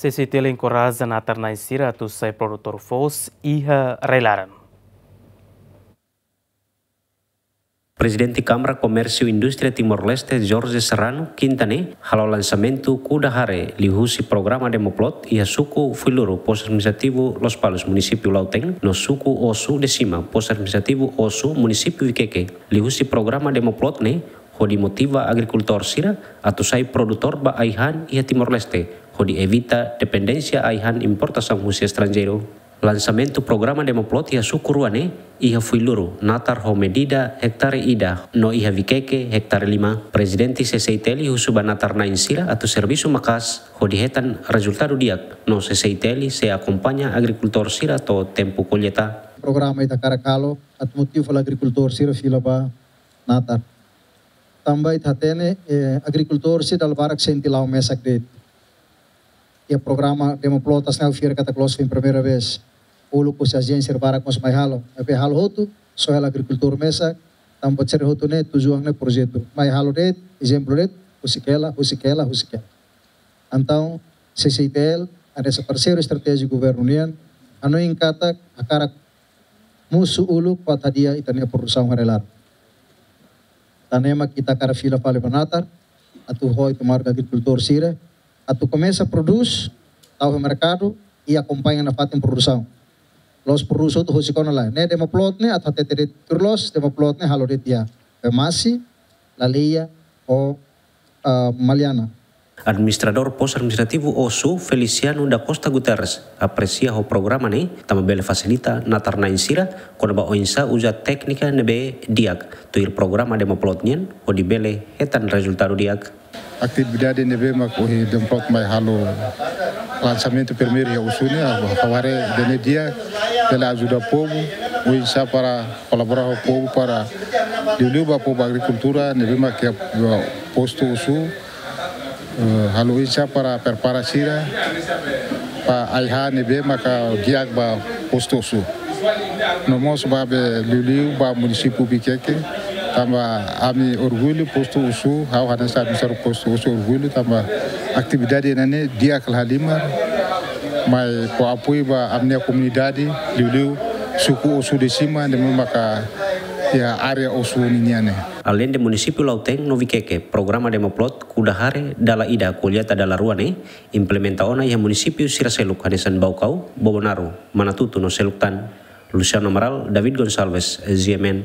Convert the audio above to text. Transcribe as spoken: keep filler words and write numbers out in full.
C C I T L enkoraja natar-na'in sira atu sai produtór foos iha rai-laran. Prezidente Kámara Komérsiu Indústria Timor-Leste, Jorge Serrano, Kinta ne'e, halo lansamentu kuda hare liuhusi programa Demoplot iha suku Fuiloro, Postu Administrativu Lospalos, Munisípiu Lautém, no suku Osu de Sima, Postu Administrativu Osu, Munisípiu Viqueque. Liuhusi programa Demoplot ne'e, hodi motiva agrikultór sira atu sai produtór ba ai-han iha Timor-Leste, hodi evita dependénsia ai-han importasaun husi estranjeiru. Lansamentu programa Demoplot iha suku rua ne'e, iha Fuiloro, natar ho medida hektare ida, no iha Viqueque, hektare lima. Prezidente C C I T L husu ba natar-na'in sira atu servisu maka'as hodi hetan rezultadu di'ak, no C C I T L sei akompaña agrikultór sira to'o tempu kolleita. Programa ita hakarak halo atu motiva agrikultór sira fila ba natar. Tanba ita hatene, eh, agrikultór sira dala barak sente la'o mesak de'it. Iha programa Demoplot hanesan ha'u fiar katak loos foin primeira vez. Uluk husi ajénsia barak mós mai halo. Maibé halo hotu, só hela agrikultór mesak, tanba sira hotu ne'e tujuan ne'e projetu. Mai halo de'it, ezemplu de'it, husik hela, husik hela, husik hela. Entaun, C C I T L, hanesan parseiru estratéjiku governu nian, hanoin katak hakarak mosu uluk para hadi'a ita-nia produsaun iha rai-laran. Tan ne'e mak ita hakarak fila fali ba natar, atu ho ita-nia agrikultór sira, atu komesa prodús, tau iha merkadu, i akompaña nafatin produsaun. La'ós prodús hotu husik ona lae. Ne'e Demoplot ne'e, atu hatete de'it tuir loos, Demoplot ne'e halo de'it iha Bemasi, Laleia, ho, ah, Maliana. Administradór Postu Administrativu Osu, Feliciano da Costa Guterres, apresia ho programa ne'e, tanba bele fasilita natar-na'in sira kona-ba oinsá uza téknika ne'ebé di'ak, tuir programa Demoplot nian, hodi bele hetan rezultadu di'ak. Atividade ne'ebé mak ohin Demoplot mai halo lansamentu primeiru iha Osu ne'e, ha'u haree ida-ne'e di'ak, bele ajuda povu, oinsá para kolabora ho povu para liuliu ba povu agrikultura ne'ebé mak iha, eh, postu Osu, eh, halo oinsá para prepara sira ba ai-han ne'ebé maka di'ak ba postu Osu. No mós ba be liuliu ba munisípiu Viqueque, tanba ami orgullu postu Osu, ha'u hanesan administradór postu Osu orgullu, tanba atividade ne'e di'ak lahalimar, mai fó apoiu ba ami-nia komunidade, liuliu suku Osu de Sima, ne'ebé maka iha área Osu ninian ne'e. Aleinde munisípiu Lautém no Viqueque, programa Demoplot kuda hare dala ida, kolleita dala rua ne'e implementa ona iha munisípiu sira seluk hanesan Baucau, Bobonaro, Manatuto no seluk tan. Luciano Amaral, David Gonçalves, G M N.